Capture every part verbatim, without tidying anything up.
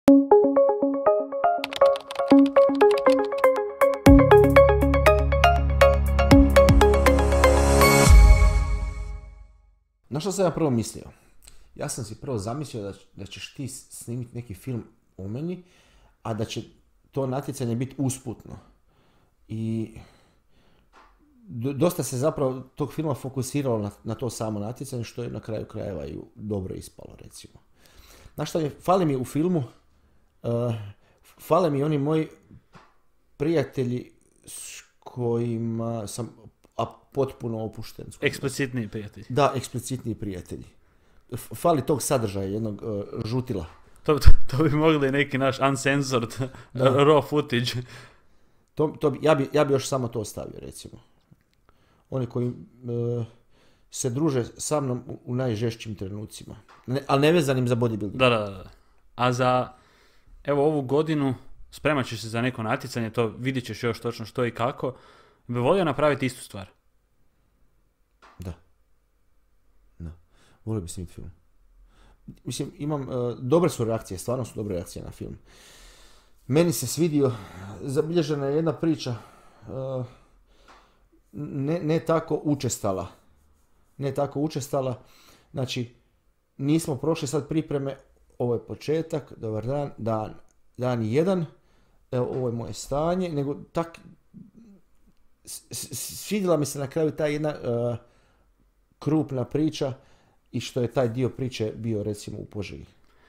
Na što sam ja prvo mislio? Ja sam si prvo zamislio da, da ćeš ti snimiti neki film o meni, a da će to natjecanje biti usputno. I dosta se zapravo tog filma fokusiralo na, na to samo natjecanje, što je na kraju krajeva i dobro ispalo, recimo. Znaš šta mi, fali mi u filmu, uh, fale mi oni moji prijatelji s kojima sam a potpuno opušten. Eksplicitniji prijatelji. Da, eksplicitniji prijatelji. Fali tog sadržaja, jednog uh, žutila. To, to, to bi mogli neki naš uncensored raw footage. To, to bi, ja, bi, ja bi još samo to ostavio, recimo. Oni koji uh, se druže sa mnom u, u najžešćim trenucima. Ne, ali ne vezanim za bodybuilding. Da, da, da. A za, evo, ovu godinu spremat ćeš se za neko natjecanje, to vidit ćeš još točno što i kako. Bi volio napraviti istu stvar? Da. Da. Volio bi snimiti film. Mislim, imam, uh, dobre su reakcije, stvarno su dobre reakcije na film. Meni se svidio, zabilježena je jedna priča, uh, ne, ne tako učestala. Ne tako učestala. Znači, nismo prošli sad pripreme, ovo je početak, dobar dan, dan, dan jedan, evo, ovo je moje stanje, nego tak, svidjela mi se na kraju ta jedna uh, krupna priča i što je taj dio priče bio, recimo, u Požegi.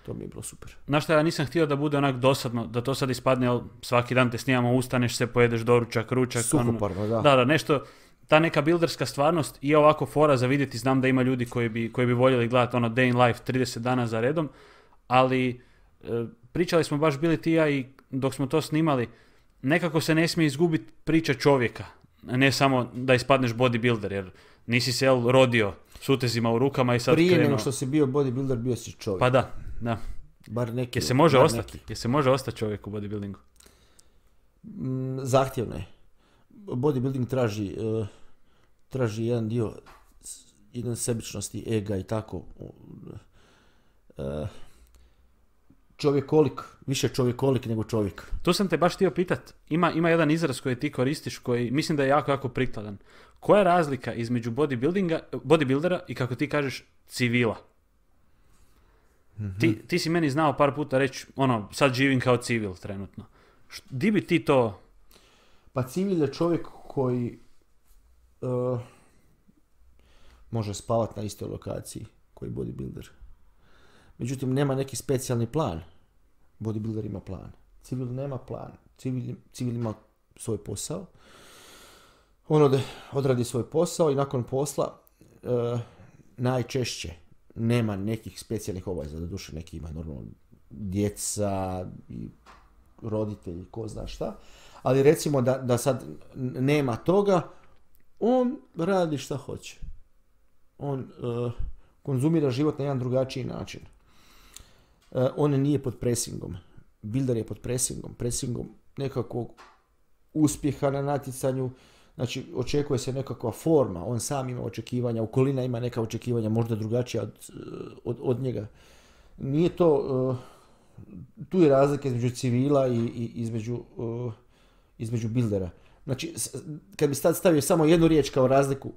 To mi je bilo super. Znaš šta, ja nisam htio da bude onak dosadno, da to sad ispadne, jel, svaki dan te snimamo, ustaneš se, pojedeš doručak, ručak. Suhoparno, da. Da, da, nešto, ta neka builderska stvarnost je ovako fora za vidjeti, znam da ima ljudi koji bi, koji bi voljeli gledati ono day in life trideset dana za redom, ali e, pričali smo baš bili ti ja i dok smo to snimali, nekako se ne smije izgubiti priča čovjeka, ne samo da ispadneš bodybuilder, jer nisi se jel, rodio s utezima u rukama i sad prije krenuo. nego što si bio bodybuilder, bio si čovjek. Pa da, da. Bar neki. Je se može bar ostati? Neki. Je se može ostati čovjek u bodybuildingu? Mm, zahtjevno je. Bodybuilding traži, uh, traži jedan dio, jedan sebičnosti, ega i tako. Uh, čovjekolik, više čovjekolik nego čovjek. Tu sam te baš htio pitat, ima, ima jedan izraz koji ti koristiš koji mislim da je jako, jako prikladan. Koja je razlika između bodybuildinga, bodybuildera i kako ti kažeš civila? Mm-hmm. Ti, ti si meni znao par puta reći, ono, sad živim kao civil trenutno. Di bi ti to... Pa civil je čovjek koji uh, može spavati na istoj lokaciji koji bodybuilder. Međutim, nema neki specijalni plan. Bodybuilder ima plan. Civil nema plan. Civil, civil ima svoj posao. On ode, odradi svoj posao i nakon posla uh, najčešće nema nekih specijalnih obaveza. Doduše neki ima normalno djeca i roditelji, ko zna šta. Ali recimo da, da sad nema toga, on radi šta hoće. On uh, konzumira život na jedan drugačiji način. Uh, on nije pod presingom. Builder je pod presingom. Presingom nekakvog uspjeha na natjecanju. Znači, očekuje se nekakva forma. On sam ima očekivanja. Okolina ima neka očekivanja, možda drugačija od, od, od njega. Nije to... Uh, tu je razlika između civila i, i između, uh, između buildera. Znači, kad bi sad stavio samo jednu riječ kao razliku,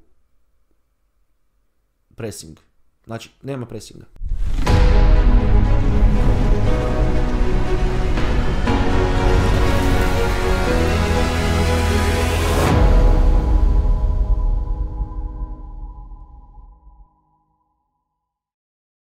pressing. Znači, nema pressinga.